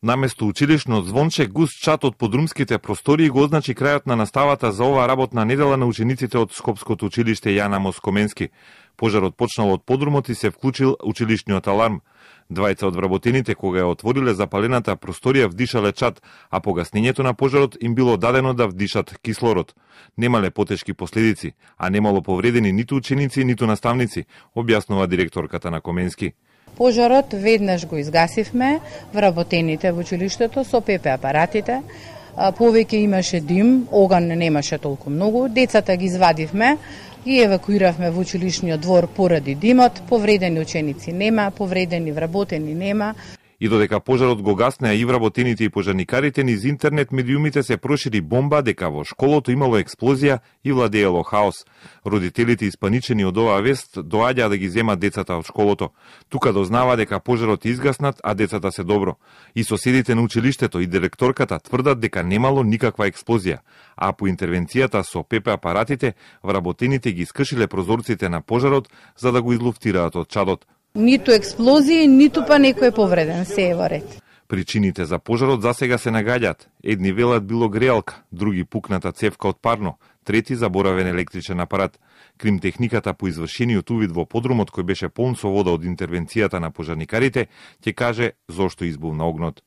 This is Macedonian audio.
Наместо училишно звонче, густ чат од подрумските простории го означи крајот на наставата за оваа работна недела на учениците од Скопското училиште Јан Амос Коменски. Пожарот почнал од подрумот и се вклучил училишниот аларм. Двајца од вработените, кога ја отвориле запалената просторија, вдишале чат, а по гаснењето на пожарот им било дадено да вдишат кислород. Немале потешки последици, а немало повредени ниту ученици, ниту наставници, објаснува директорката на Коменски. Пожарот веднаш го изгасивме, вработените во училиштето со ПП апаратите. Повеќе имаше дим, оган немаше толку многу. Децата ги извадивме, ги евакуиравме во училишниот двор поради димот. Повредени ученици нема, повредени вработени нема. И додека пожарот го гаснеа и вработените и пожарникарите, низ интернет медиумите се прошири бомба дека во школото имало експлозија и владеело хаос. Родителите испаничени од оваа вест доаѓаа да ги земат децата од школото. Тука дознава дека пожарот изгаснат, а децата се добро. И соседите на училиштето и директорката тврдат дека немало никаква експлозија, а по интервенцијата со ПП апаратите, вработените ги скршиле прозорците на пожарот за да го излуфтираат од чадот. Ниту експлозии, ниту па некој повреден, се е во ред. Причините за пожарот засега се нагаѓаат. Едни велат било греалка, други пукната цевка од парно, трети заборавен електричен апарат. Кримтехниката по извршениот увид во подрумот, кој беше полн со вода од интервенцијата на пожарникарите, ќе каже зошто избувна огнот.